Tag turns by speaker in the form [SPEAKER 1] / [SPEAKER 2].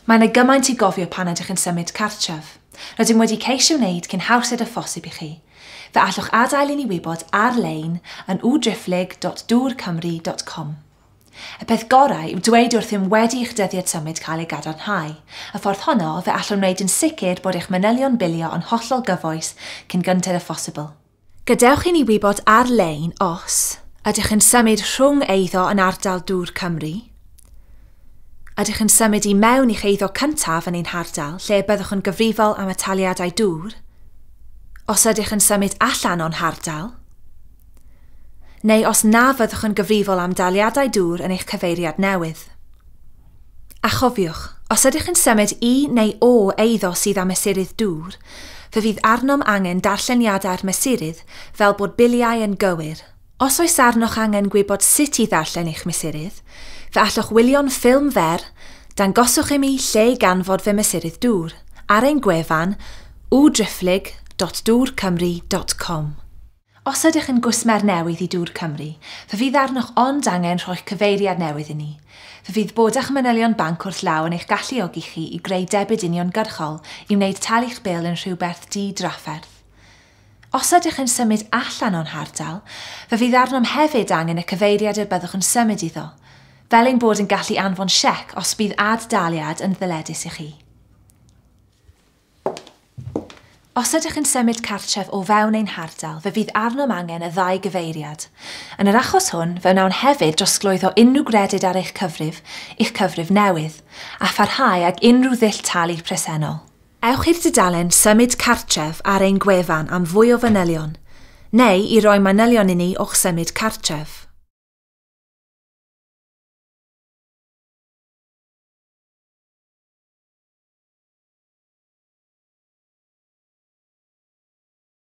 [SPEAKER 1] Mae yna gymaint i gofio pan ydych yn symud cartref. Rydym wedi ceisio wneud cyn hawsed â phosib i chi. Fe allwch adael i ni wybod ar-lein yn www.dwrcymru.com. Y peth gorau yw dweud wrthym wedi i'ch dyddiad symud cael ei gadarnhau. Y ffordd honno, fe allwn wneud yn sicr bod eich manylion bilio yn hollol gyfoes cyn gynted â phosibl. Gadewch i ni wybod ar-lein os ydych yn symud rhwng eiddo yn ardal Dŵr Cymru, ydych yn symud i mewn i'ch eiddo cyntaf yn ein hardal lle byddwch yn gyfrifol am y taliadau dŵr, os ydych yn symud allan o'n hardal, neu os na fyddwch yn gyfrifol am daliadau dŵr yn eich cyfeiriad newydd. A chofiwch, os ydych yn symud i neu o eiddo sydd â mesurydd dŵr, fe fydd arnom angen darlleniadau'r mesurydd fel bod biliau yn gywir. Os oes arnoch angen gwybod sut i ddarllen eich mesurydd, fe allwch wylio'n ffilm fer Dangoswch i mi lle i ganfod fy mesurydd dŵr ar ein gwefan www.dwrcymru.com. Os ydych yn gwsmer newydd i Dŵr Cymru, fe fydd arnoch ond angen rhoi'ch cyfeiriad newydd i ni. Fe fydd bod â'ch manylion banc wrth law yn eich galluogi chi i greu debyd uniongyrchol i wneud talu'ch bil yn rhywbeth di-drafferth. Os ydych yn symud allan o'n hardal, fe fydd arnom hefyd angen y cyfeiriad y byddwch yn symud iddo, fel ein bod yn gallu anfon siec os bydd ad-daliad yn ddyledus i chi. Os ydych yn symud cartref o fewn ein hardal, fe fydd arnom angen y ddau gyfeiriad. Yn yr achos hwn, fe wnawn hefyd drosglwyddo unrhyw gredyd ar eich cyfrif i'ch cyfrif newydd, a pharhau ag unrhyw ddull talu presennol. Ewch i'r dudalen Symud Cartref ar ein gwefan am fwy o fanylion, neu i roi manylion i ni o'ch symud cartref.